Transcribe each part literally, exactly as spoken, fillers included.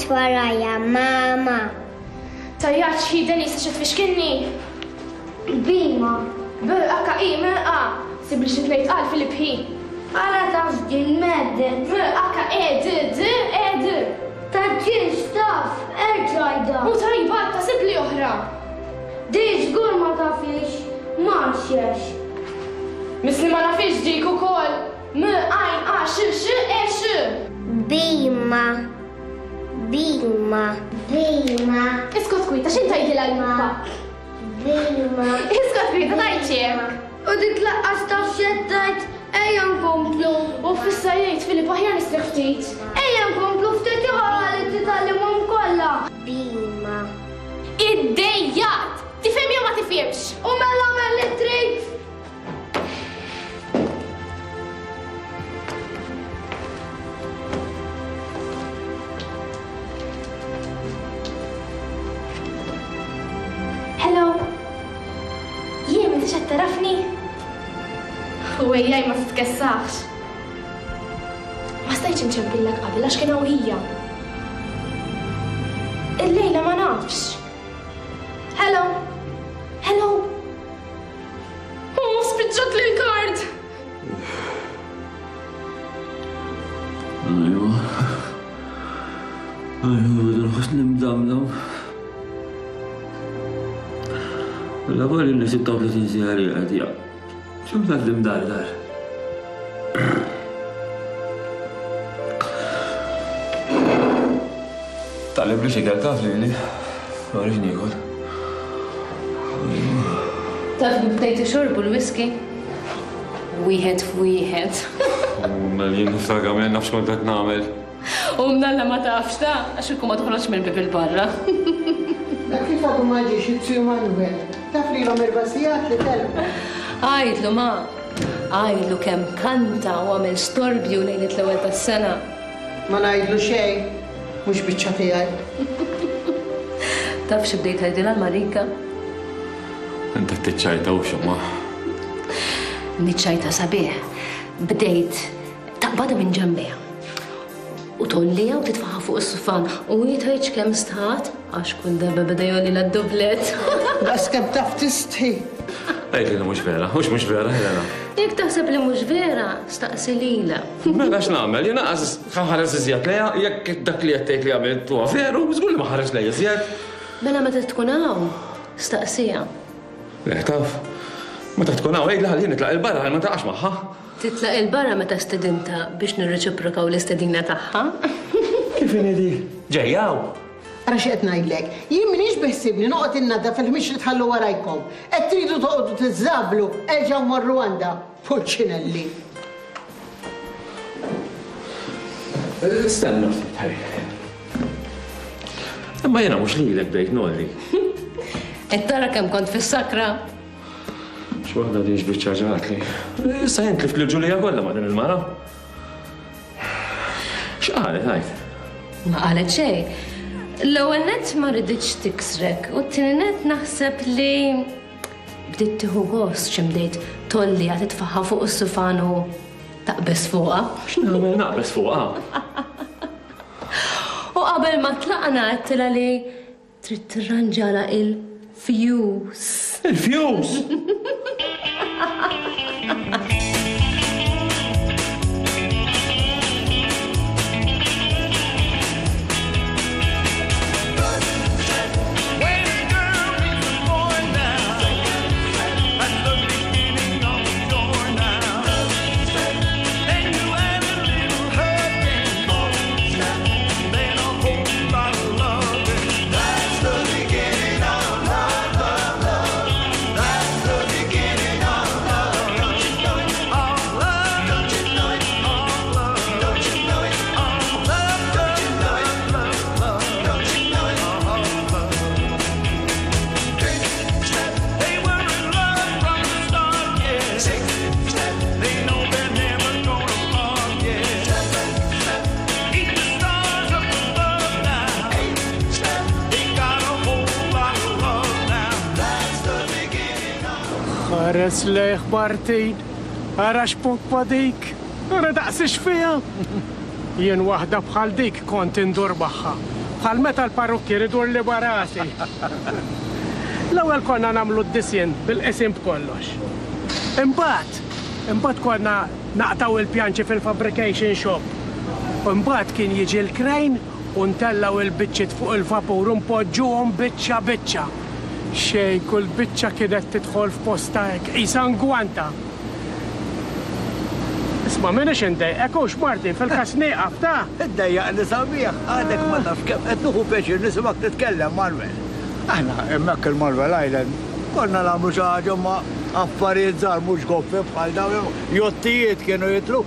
Tgħidx warajja, mama. Tajjaċ hi Denise xi tfixkinni. Bima. B H I M A. Sibli xi tnejn tqal Filip hi. Ara taf din meddet. M H E D D E D. Taġġilx taf, erġa' għidha. U tajba ta' sibli oħra. Di żgur ma tafix, ma xex. Misli ma nafix dik ukoll. M għajn A X X E X. Bima. Bima. Bima. Iskot kwita, x'int tgħidilha l-lupa? Bima. Iskot kwita tgħidx hekk. U dik laqqas taf x'qed tgħid, ejja nkomplu. U fissa jgħid Filip aħjar nistrieħ ftit. Ejja nkomplu ftit ieħor ħalli titgħallimhom kollha. Bima. Iddejjat! Tifhem jew ma tifhimx? U mela għamel li trid. Hello. Jien m'intix qed tarafni? U ejjaj ma titkessax. Ma stajtx inċempillek qabel għax kien hawn hija. Illejla ma nafx. Hello. Hello. Oh, spiċċat li l-kard. Ajwa. Ajwa, nħossni mdamdam. La għalli li sitta u tletin siegħa li għad, ja. Xum tgħaddim dar dar? Taqleb li xikel taf li li. Ma rridx niekol. Taf li bdejt ixorbu l-whisky? Wieħed f'wieħed. U mela jien niftakar ma nafx kont qed nagħmel. U mnalla ma tafx ta' għax ikun ma toħroġ mill-bib il-barra. Dak kif għadu ma ġiex it-tiju Manuel, taf li l-om erba' sigħat li telqu. Għajdlu ma, għajdlu kemm kanta u għamel storbju lejlet l-ewwel tas-sena. Ma ngħidlu xejn, mhux biċċa tiegħi. Taf xi bdejt tgħidilha l-Marika? Inti tiċċajta u x'ma. Niċċajta sabiħ. Bdejt taqbadha minn ġembejha. U tollija u titfaħa fuq is-sufan u hi tgħidx kemm stħat għax kull darba beda jolli d-dublet. Daqs kemm taf tistħi. Għid li mhux vera, mhux mhux vera, Helena. Jekk taħseb li mhux vera, staqsi lilha. Mela x'nagħmel, jien aqas ħares iżjed lejha, jekk dak li qed tgħid li għamilt huwa veru, żgur li ma ħares lejha iżjed. Mela meta tkun hawn, staqsiha. Le taf, meta tkun hawn għidli ħalli nitlaq il-barra ħalli ma taqax magħha. Titlaq il-barra meta stedinta biex nirreċiprokaw l-istedina tagħha. Kif inhi di? Ġejjaw. Ara xi qed ngħidlek, jien m'iniex beħsibni noqgħod innaddaf il-ħmiex li tħallu warajkom. Qed tridu toqgħodu tiżżablu, erġgħu morru għandha. Pulċinelli. Stenna ftit, ħaj. Imma jiena mhux lilek bdejt nolli. Qed tara kemm kont fis-sakra. X'waħda din x'biċċa ġatli. Issa jien tlift lil Ġulija kollha ma' din il-mara. X'qalet għajt? Ma qalet xejn. L-ewwel nett ma riditx tiksrek u t-tieni nett naħseb li bdiet tieħu gost xi bdejt tolli għad titfaħħa fuq is-sufan u taqbeż fuqha. X'nagħmel naqbeż fuqha? U qabel ma tlaqna għedtilha li trid tirranġala il-fuse. Il-fuse? Ħares lejh Martin, ara x'puppa dik, ara daqsix fiha. Jien waħda bħal dik kont indur magħha, Bħal meta l-parrukkier idur li barasi. L-ewwel konna nagħmlu d-disinn bil-qisien b'kollox. Imbagħad, imbagħad konna naqtaw il-pjanċi fil-fabrication shop. Imbagħad kien jiġi l-crane u ntellgħu il-biċċiet fuq il-vapur u npoġġuhom biċċa biċċa. Xejn, kull biċċa kienet tidħol f'posta hekk, qisha ngwanta. Isma' m'iniex indejqek hux Martin fil-każ nieqaf ta'. Iddejjaqni sabiħ, għadek ma tafx kemm qed nieħu pjaċir nisimgħek titkellem, Manuel. Aħna hemmhekk il-Marvel Island konna nagħmlu xi ħaġa ma affarijiet żgħar mhux goffi bħal dawn, jottijiet kienu jitlu.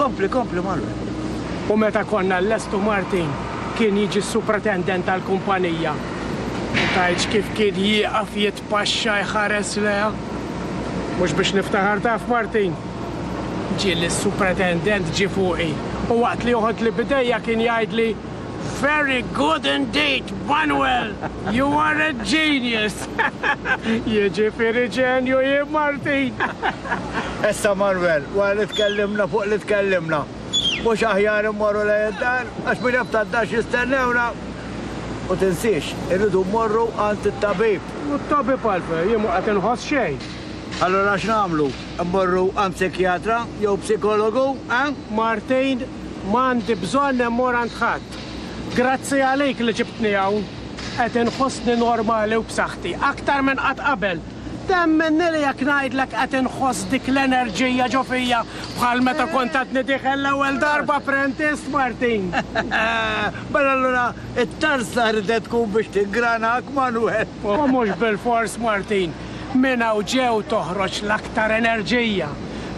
Kompli, kompli, Manuel. U meta konna l-lestu Martin kien jiġi s-supretendent tal-kumpanija. U tgħidx kif kien jieqaf jitpaxxa jħares leha. Mhux biex niftaħar taf Martin. Ġieli s-supretendent ġie fuqi u waqt li joħod li bidejja kien jgħidli Very good indeed, Manuel! You are a genius! Jiġifieri ġenju jien Martin! Issa Manuel, wara li tkellimna fuq li tkellimna, mhux aħjar immorru lejn id-dar għax min jaf tad-dar x'jistennewna. U tinsiex, irridu mmorru għand it-tabib. U t-tabib għalfejn, jien mhu qed inħoss xejn. Allura x'nagħmlu? Immorru għand psikjatra jew psikologu, eh? Martin, m'għandi bżonn immur għand ħadd. Grazzi għalik li ġibtni hawn. Qed inħossni normali u b'saħħti, aktar minn qatt qabel. Temminni li jekk ngħidlek qed inħoss dik l-enerġija ġo fija bħal meta kont għadni dieħel l-ewwel darba apprentist, Martin. Mela allura it-tarsa ridet tkun biex tingranak, Manuel. U mhux bil-fors, Martin. Minn hawn ġew toħroġ l-aktar enerġija.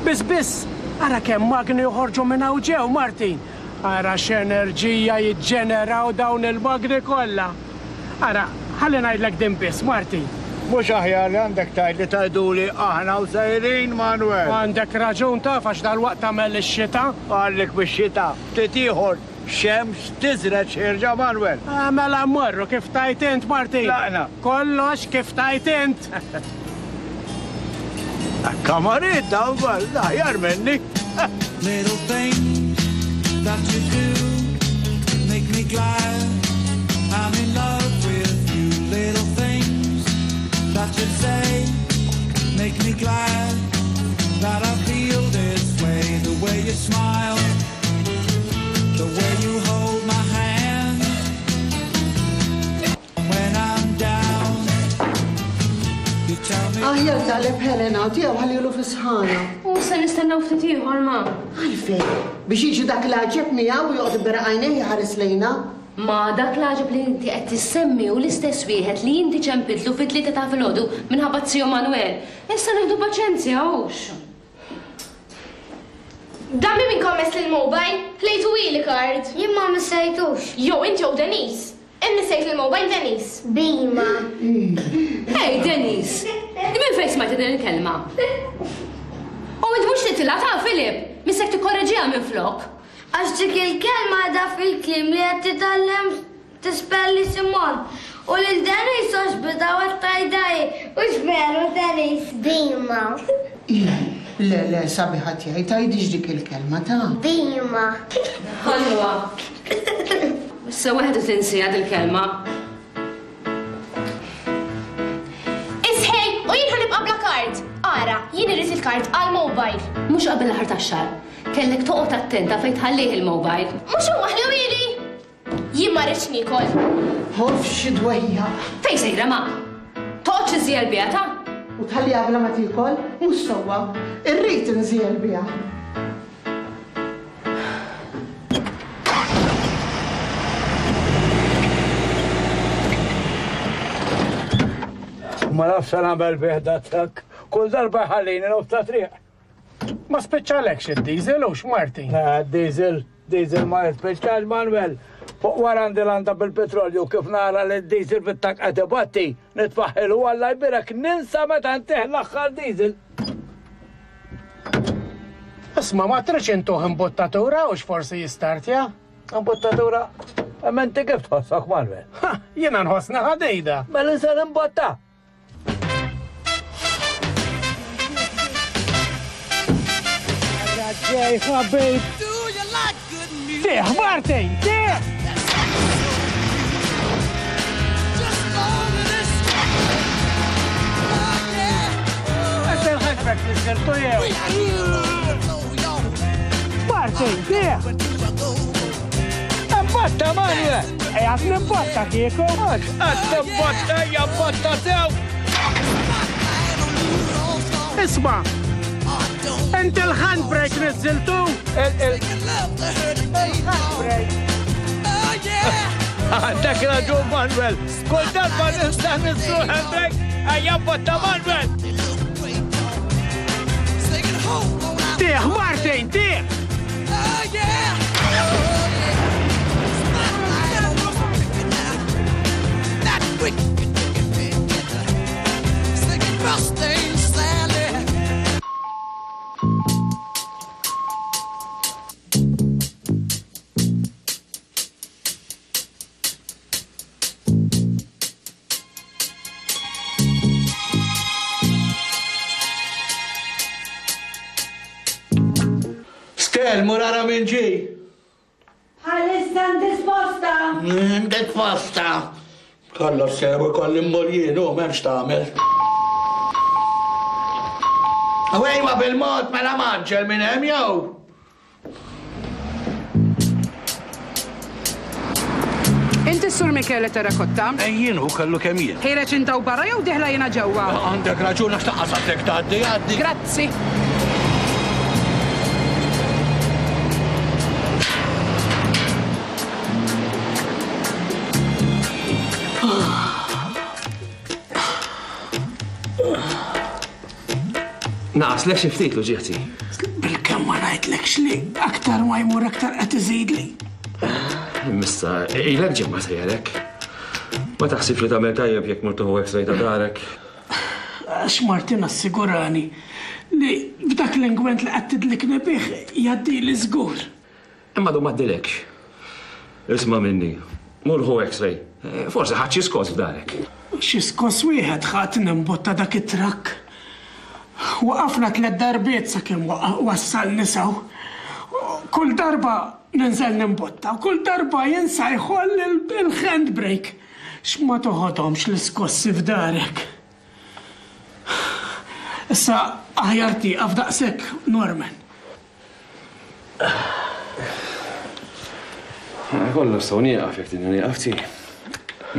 Biss biss, ara kemm magni joħorġu minn hawn ġew, Martin. Ara x'enerġija jiġġeneraw dawn il-magni kollha. Ara, ħalli ngħidlek din biss, Martin. Mhux aħjar li għandek tgħid li tgħiduli aħna u sejrin, Manuel. Għandek raġun taf għax dalwaqt tagħmel ix-xita. Għalik bix-xita, ftit ieħor xemx tiżreġ ħierġa, Manuel. Ah, mela mmorru kif tajt int, Martin. Tlaqna. Kollox kif tajt int. Kamarit dawn aħjar minni. Little things that you do make me glad. I'm in love with you. Little things that you say make me glad that I feel this way. The way you smile, the way you hold my hand when I'm down. You tell me. Aħjar taqleb Helena u tiegħu ħallilu fi sħana. U se nistennew ftit ieħor ma. Għalfejn, biex jiġi dak l-għaġeb miegħu u joqgħod iberaq għajnejh jħares lejna. Ma dak l-għaġeb li inti qed tissemmi u l-istess wieħed li inti ċempiltlu fit-tlieta ta' filgħodu minħabba zio Manuel. Issa nieħdu paċenzja hux. Dammi minn kommess l-mobile, ħlejtu ili card. Jien ma missejtux. Jew inti jew Denise. Immissejt il-mobile Denise. Bima. Hey Denise, minn fejn smajt din il-kelma? U int mhux titilha ta' Filip, missek tikkorreġiha minn flok. Għax dik il-kelma da fil-kliem li qed titgħallem tispelli Simon. U lil Denise għax bida għat tajdaj. U x'veru Denise? Bima. Le, le, sabiħa tiegħi, tgħidix dik il-kelma ta'. Bima. Ħalwa. Issa waħda tinsija dil-kelma. Isħej, u jien ħanibqa' bla kard. Ara, jien irrid il-kard għal-mobile. Mhux qabel l-aħħar tax-xahar. Kellek toqgħod attenta fejn tħallih il-mobile. Mhux huma ħlewili. Jien ma rridx niekol. Ħof xi dwejjaq. Fejn sejra ma? Toqgħodx iżjel biha ta'? U tħalliha bla ma tiekol, mhux sewwa. Irrid inżiel biha. Ma nafx se nagħmel bih dat-trakk. Kull darba jħallini nofs ta' triq. Ma spiċċalekx id-diesel hux Martin. Eh, Diesel, diesel ma jispiċċax Manuel. Fuq wara għandi landa bil-petrolju kif nara li d-diesel fit-tank qed ibatti, nitfaħħilu Alla jbirek ninsa meta ntih l-aħħar diesel. Isma' ma tridx intuh imbuttatura hux forsi jistartja? Imbuttatura, imma inti kif tħossok Manuel? Ha, jiena nħossni ħadejda. Mela se nimbotta. Ġej, ħabib. Tih, Martin, tih! Il-handbrake niżżiltu jew? Martin, tih! Imbotta, Manuel! Ejja, nimbotta kieku! Qed timbotta, ejja mbotta sew! Isma'! Inti l-handbrake niżżiltu? Il-handbrake! Għandek raġun, Manuel! Kull darba nista' niżżlu l-handbrake, ejja mbotta, Manuel! Tih, Martin, tih! Stel, mur ara minn ġie. Bħalissa ndisposta. Ndisposta. Kollox sew ikolli mmur jien u m'hemmx tagħmel. Ejwa bil-mod mela maġġel minn hemm jew. Inti s-Sur Michele Terracotta? Jien hu kellu kemm jien. Ħireġ inta u barra jew diħla jiena ġewwa? Għandek raġun għax taqqas tgħaddi għaddi. Grazzi. Naqaslek xi ftit l-uġieħti. Bil-kemm ma ngħidlekx li aktar ma jmur aktar qed iżidli. Missa, ilek ġimgħa sejjerek. Ma taħsibx li tagħmel tajjeb jekk mur tieħu x-ray ta' darek. Għax Martin assigurani li b'dak l-ingwent li qed tidlikni bih jgħaddili żgur. Imma du m'għaddilekx. Isma' minni, mur ħu x-ray. Forsi ħadd xi skoss f'darek. Xi skoss wieħed ħadd nimbotta dak it-trakk. Waqafna tliet darbiet sakemm wassalni sew. Kull darba ninżel nimbotta, u kull darba jinsa jħoll il-handbrake. X'ma toħodhomx l-iskossi f'darek. Issa aħjar tieqaf daqshekk, Norman. Kollox sew nieqaf jekk tridni nieqaf ti.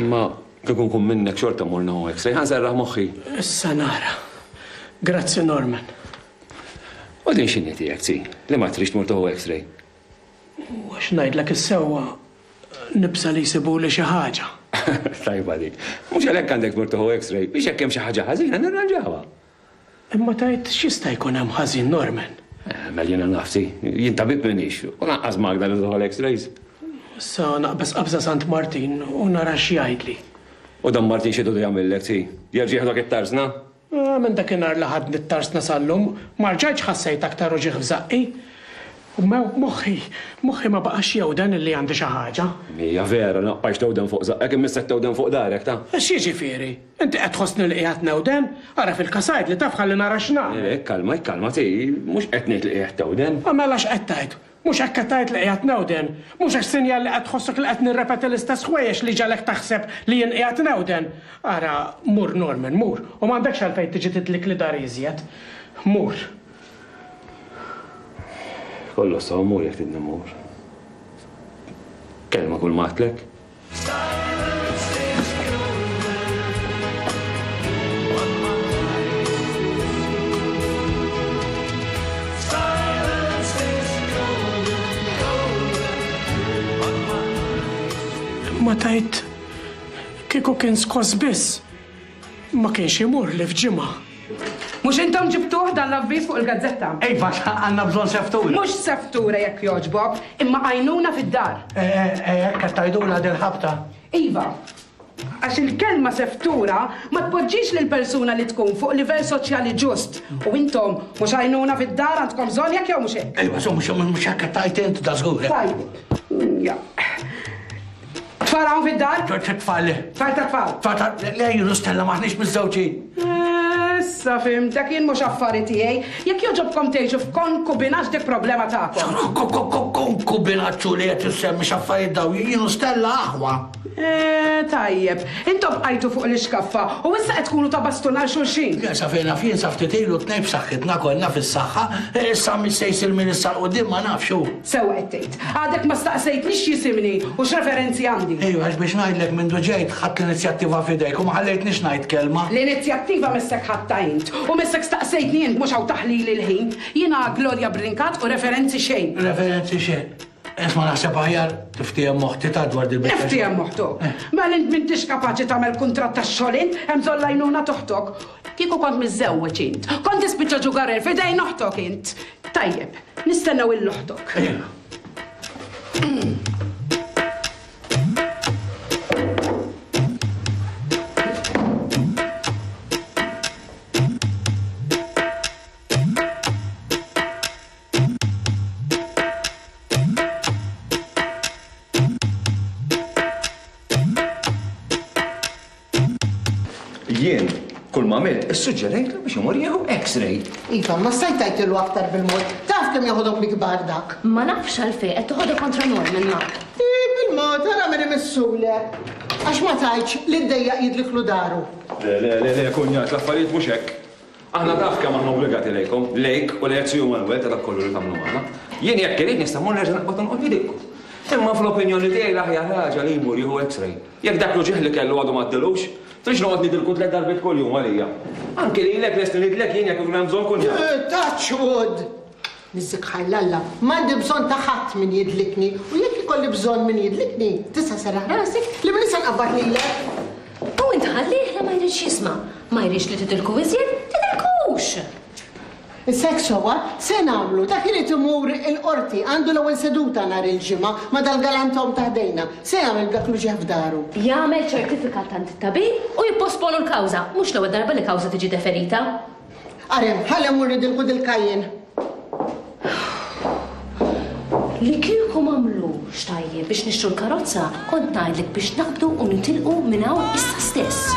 Ma kieku nkun minnek xorta mmur nieħu x-ray, ħa nserraħ moħħi. Issa nara. Grazzi, Norman. U din x'inhi tiegħek ti, li ma trix tmur tieħu x-ray? U għax ngħidlek is-sewwa nibsa li jsibuli xi ħaġa. Tajba dik. Mhux għalhekk għandek tmur tieħu x-ray, biex jekk hemm xi ħaġa ħażina nirranġawha. Imma tgħid x'jista' jkun hemm ħażin, Norman? Mela jiena naf ti, jien tabib m'iniex, u lanqas magna li tieħu l-x-rays. Issa naqbeż qabża Sant Martin u nara x'jgħidli. U dan Martin xi jdu jagħmillek ti? Jerġa' jieħdok it-tarsna? Minn dakinhar li ħadni t-tarsna sal-lum, ma rġajtx ħassejt aktar uġigħ f'żaqqi. U moħħi, moħħi ma baqax jewden illi għandi xi ħaġa. Hija vera, naqbajx tewden fuq żaqqek imma issa tewden fuq darek ta'. X'jiġifieri? Inti qed tħossni li qiegħed newden? Ara fil-kasajd li taf ħalli nara x'nagħmel. Ikkalma, ikkalma ti, mhux qed ngħid li qiegħed tewden. Mela x'qed tgħid? Mhux hekk qed tgħid li qiegħed newden, mhux għax sinjal li qed tħossok li qed nirrepeti l-istess ħwejjeġ li ġalek taħseb li jien qiegħed newden. Ara, mur Norman, mur, u m'għandekx għalfejn tiġi tidlik li dar iżjed. Mur. Kollox sew mur jekk tridni mmur. Kelma kull ma għedtlek. Ma tajt kieku kien skoss biss, ma kienx imur li f'ġimgħa. Mhux intom ġibtuh dan l-avviż fuq il-gazzetta? Iva, għandna bżonn seftura. Mhux seftura jekk jogħġbok, imma għajnuna fid-dar. Eh, hekk qed tgħidulha dil-ħabta. Iva, għax il-kelma seftura ma tpoġġix lil persuna li tkun fuq livell soċjali ġust. U intom mhux għajnuna fid-dar għandkom bżonn jekk jew mhux hekk. Iva, so mhux mhux hekk qed tgħid int da żgur. Tajb. Ja. Tfal hawn fid-dar? Tfal. Tfal ta' tfal. Tfal ta' le jien u Stella maħniex miżżewġin. Issa fhimtek, jien mhux affari tiegħi. Jekk jogħġobkom tgħixu f'konkubinaġġ dik problema tagħkom. Konkubinaġġ li qed issemmi x'affarijiet daw, jien u Stella aħwa. Eh, tajjeb, intom bqajtu fuq l-ixkaffa u issa qed tkunu ta' bastun għal xulxin. Le, sa fejn naf jien sa ftit ilu tnejn b'saħħitna konna fis-saħħa, issa min se jsir minn issa 'l quddiem ma nafx hu. Sewwa qed tgħid. Għadek ma staqsejtnix x'jisimni u x'referenzi għandi. Ejwa, għax biex ngħidlek mindu ġejt ħadt l-inizjattiva f'idejk u ma ħallejtnix ngħid kelma. L-inizjattiva missek ħadtha int u missek staqsejtni int mhux hawn taħlili l-ħin. Jiena Gloria Brincat u referenzi xejn. Referenzi xejn. Isma' naħseb aħjar tiftiehem moħħti ta' dwar dil-biċċa xogħol. Niftiehem moħħtok. Mela int m'intix kapaċi tagħmel kuntratt tax-xogħol int, hemm bżonn l-għajnuna t'oħtok. Kieku kont miżżewweġ int, kont tispiċċa ġugarel f'idejn oħtok int. Tajjeb, nistennew lil oħtok. Jien, kull ma għamilt, issuġġerejtlu biex imur jieħu X-ray. Iva, ma stajt tgħidtilu aktar bil-mod. Taf kemm joħodhom bi kbar dak. Ma nafx għalfejn qed toħodha kontra Norman ma. Ih, bil-mod, ara min imissulek. Għax ma tgħidx li ddejjaq jidliklu daru. Le, le, le, le, kunjat, l-affarijiet mhux hekk. Aħna taf kemm aħna obbligati lejkom, lejk u lejk Siju Manuel ta' dak kollu li tagħmlu magħna. Jien jekk irid nista' mmur nerġa' naqbad nqod nidilku. Imma fl-opinjoni tiegħi l-aħjar ħaġa li jmur jieħu X-ray. Jekk dak l-uġigħ li kellu għadu m'għaddilux, trix noqgħod nidilku tliet darbiet kuljum għalija. Anki lilek lest nidlek jien jekk ikun hemm bżonn kunjat. Touch wood! Niżżik ħajr l-Alla, m'għandi bżonn ta' ħadd min jidlikni u jekk ikolli bżonn min jidlikni, tista' serraħ rasek li minn issa nqabbad lilek. U int ħallih li ma jridx jisma'. Ma jridx li tidilku iżjed, tidilkux! Issa hekk sewwa, se nagħmlu, dak irid imur il-qorti, għandu l-ewwel seduta nhar il-Ġimgħa ma' dal-galantom ta' ħdejna. Se jagħmel b'dak l-uġigħ f'daru? Jagħmel ċertifikat għand it-tabib u jipposponu l-kawża, mhux l-ewwel darba li kawża tiġi deferita. Arem, ħalli mmur nidilku dil-kajjin. Li kieku m'għamlux tajjeb biex nixtru l-karozza, kont ngħidlek biex naqbdu u nitilqu minn hawn issa stess.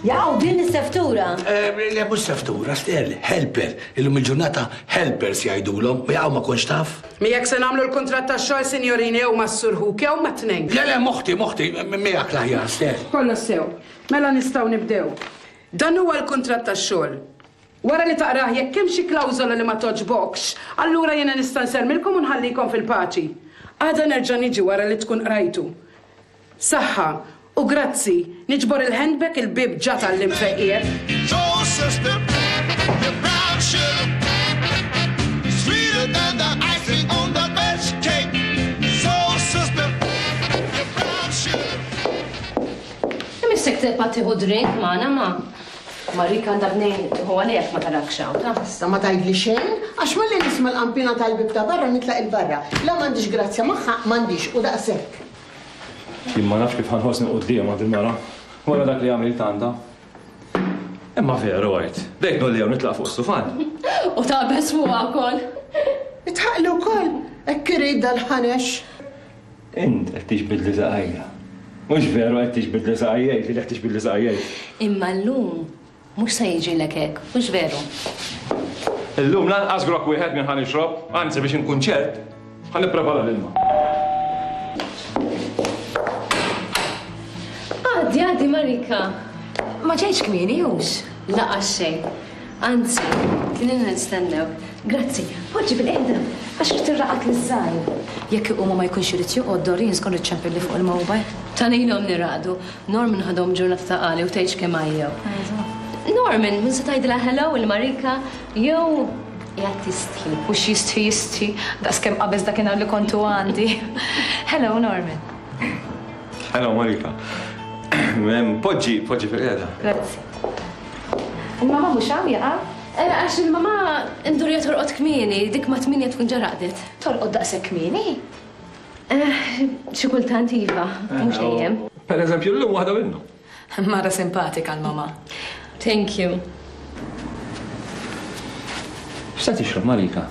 Jaqgħu din is-seftura. Le mhux seftura, Stell, helper. Illum il-ġurnata helpers jgħidulhom, u jaqgħu ma kontx taf. Miegħek se nagħmlu l-kuntratt tax-xogħol, sinjorini, jew mas-Sur Hook jew mat-tnejn. Le, le, moħti, moħti, miegħek l-aħjar, Stell. Kollox sew. Mela nistgħu nibdew. Dan huwa l-kuntratt tax-xogħol. Wara li taqrah jekk hemm xi klawżola li ma toġbokx, allura jiena nista' nsermilkom u nħallikom fil-paċi. Għada nerġa' niġi wara li tkun qrajtu. Saħħa u grazzi, niġbor il-handbag il-bib ġa tal-lim fejqiet. So sister, the brown sugar, sweeter than the icing on the best cake. So sister, the brown sugar. Imissek tibqa' tieħu drink magħna ma. Marika għandha bnejn tieħu għalih ma tarakx hawn, ta'. Issa ma tgħidli xejn, għax malli nisma' l-qampina tal-bib ta' barra nitlaq il-barra. La m'għandix grazzja magħha, m'għandix u daqshekk. Jien ma nafx kif ħanħossni quddiem għand il-mara, wara dak li għamilt għandha. Imma veru għajt, bdejt nolli hawn nitlaq fuq is-sufan. U taqbeż fuqha wkoll. Itħaqli wkoll, hekk irid dal-ħanex. Int qed tiġbidli saqajja. Mhux veru qed tiġbidli saqajja, li qed tiġbidli saqajja. Imma llum mhux se jiġrilek hekk, mhux veru. Illum lanqas grok wieħed minn ħa nixrob, anzi biex inkun ċert, ħa nipprepara l-ilma. Għaddi, għaddi, Marika. Ma ġejtx kmieni, hux? Laqas xejn. Anzi, kien ilna nistennew. Grazzi, poġġi bil-qiegħda, għax irid irraqad liż-żgħir. Jekk iqumu ma jkunx irid joqgħod, Doreen skont iċċempilli fuq il-mobile. Tanilhom niraqdu. Norman ħadhom ġurnata ta' qali u tgħidx kemm għajjew. Norman, min se tgħidilha hello il-Marika jew qiegħed tistħi. U x'jistħi jistħi, daqskemm qabeż dakinhar li kontu għandi. Hello, Norman. Hello, Marika. Poġġi, poġġi fil-qiegħda. Grazzi. Il-mama mhux hawn jaqa'? Għax il-mama ndurja torqod kmieni, dik ma tminja tkun ġa raqdet. Torqod daqshekk kmieni? Xi kultant iva, mhux dejjem. Per eżempju, llum waħda minnhom. Mara simpatika l-mama. Thank you. X'se tixrob, Marika?